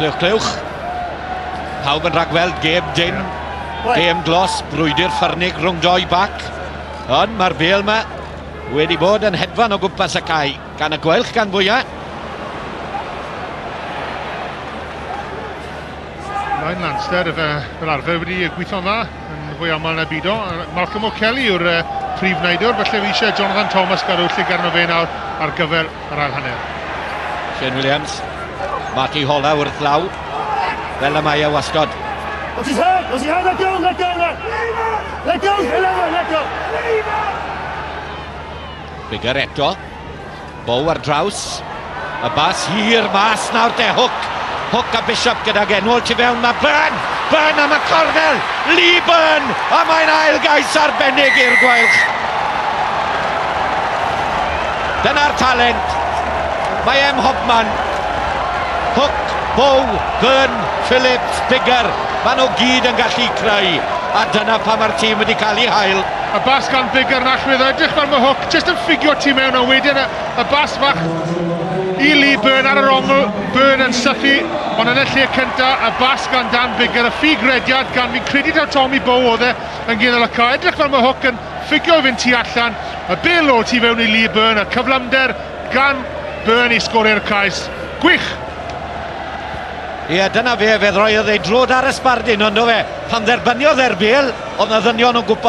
Clywch, clywch. Pawb yn rhagweld gêm dyn, gêm glos, brwydr ffyrnig rhwng doi bac. Ond mae'r bêl yma wedi bod yn hedfan o gwmpas y cae, gan y Gweilch gan fwyaf. Ryan Lanster fel arfer wedi gweithio'n dda yn fwy aml na bido. Malcolm O'Kelly yw'r prif wneidwr, felly fi eisiau Jonathan Thomas gadw llygad arno fe nawr ar gyfer yr ail hanner. Shane Williams, Marty Hola wrth law, fel y mae e wastod. Watch his head! Watch his head! Let go! Let go! Let go! 11! Let go! Biggar eto, Bow ar draws, y bas hir mas nawr de, Hook. Hook a Bishop gydag enwol tu fewn, mae Byrne! Byrne am y cornel! Lee Byrne! A mae'n ail gais arbennig i'r Gweilch. Dyna'r talent. Mae em Hobman. Hook, Bow, Byrne, Phillips, Biggar. Maen nhw gyd yn gallu creu. A dyna pa mae'r tîm wedi cael ei hael. Y bas gan Biggar yn allwedd, edrych fel mae Hook jyst yn ffigio tu mewn, a wedyn y bas fach i Lee Byrne ar yr ongl, Byrne yn sythu, ond yn y lle cynta, y bas gan Dan Biggar, y ffug rediad gan fi'n credu taw Tommy Bow oedd e yn gydol y cae. Edrych fel mae Hook yn ffigio i fynd tu allan, y bêl o tu fewn i Lee Byrne, y cyflymder gan Byrne i sgorio'r cais. Gwych! Ie, dyna fe, fe ddroiodd ei drod ar y sbardun, ond o fe, pan dderbyniodd e'r bêl, oedd na ddynion o gwmpas.